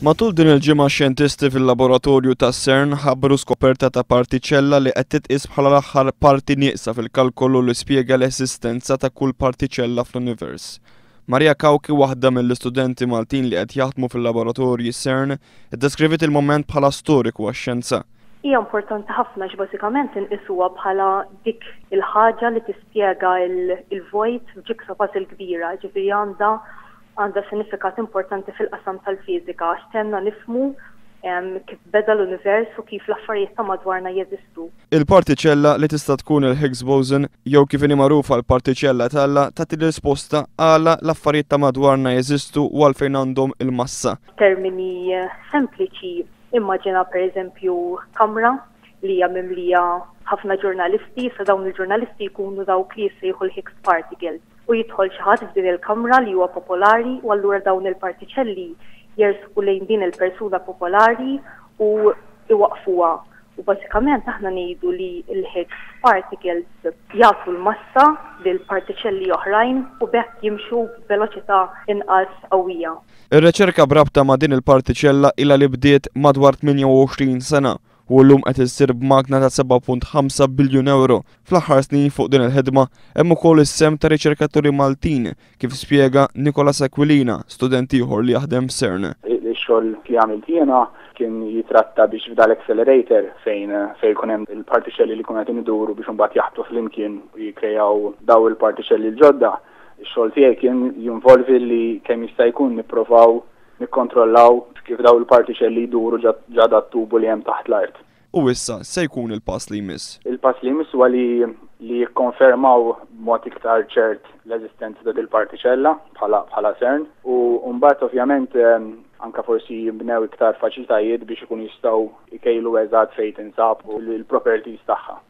Matul din il-ġimgħa xjentisti fil-laboratorju ta' CERN ħabbru skoperta ta' partiċella li qed titqies bħala l-aħħar parti nieqsa fil-kalkolu li spjega l-eżistenza ta' kull partiċella fl-univers. Maria Cauchi, waħda mill-istudenti Maltin li qed jaħdmu fil-laboratorji CERN, iddeskriviet il-mument bħala storiku għax-xjenza. Hija importanti ħafna għax bażikament inqisuha bħala dik il-ħaġa li tispjega l-vojt f'jigsaw puzzle kbira, ġifieri għandha għandha sinifikat importanti fil-qasam tal-fiżika għax tgħinna nifhmu kif beda l-univers u kif l-affarijiet ta' madwarna jeżistu. Il-partiċella li tista' tkun il-Higgs boson jew kif inhi magħrufa l-partiċella t'Alla tagħti risposta għala l-affarijiet ta' madwarna jeżistu u għalfejn għandhom il-massa. F'termini sempliċi, immaġina pereżempju kamra li hija mimlija ħafna ġurnalisti, issa dawn il-ġurnalisti jkunu dawk li jissejħu l-Higgs particles. U jidħol xi ħadd f'din il-kamra li huwa popolari u allura dawn il-partiċelli jersqu lejn din il-persuna popolari u iwaqqfuha. U bażikament aħna ngħidu li l-Higgs particles jagħtu l-massa lil partiċelli oħrajn u b'hekk jimxu b'veloċità inqas qawwija. Ir-riċerka b'rabta ma' din il-partiċella ilha li bdiet madwar 28 sena u llum qed issir b'magna ta' 7.5 biljun ewro. Fl-aħħar snin fuq din il-ħidma hemm ukoll is-sehem ta' riċerkaturi Maltin, kif spjega Nicolas Aquilina, student ieħor li jaħdem f'CERN. Ix-xogħol li għamilt jiena kien jitratta biex f'dal-accelerator fejn fejn jkun hemm il-partiċelli li jkunu qegħdin iduru biex imbagħad jaħbtu flimkien u jikkrejaw daw il-partiċelli l-ġodda. Ix-xogħol tiegħi kien jinvolvi li kemm jista' jkun nipprovaw nikkontrollaw kif daw il-partiċelli jduru ġa dat-tubu li hemm taħt l-art. U issa se jkun il-pass li jmiss? Il-pass li jmiss huwa li li jikkonfermaw b'mod iktar ċert l-eżistenza ta' dil-partiċella bħala bħala CERN u mbagħad ovvjament anke forsi jinbnew iktar faċilitajiet biex ikunu jistgħu jkejlu eżatt fejn tinsab u l-properties tagħha.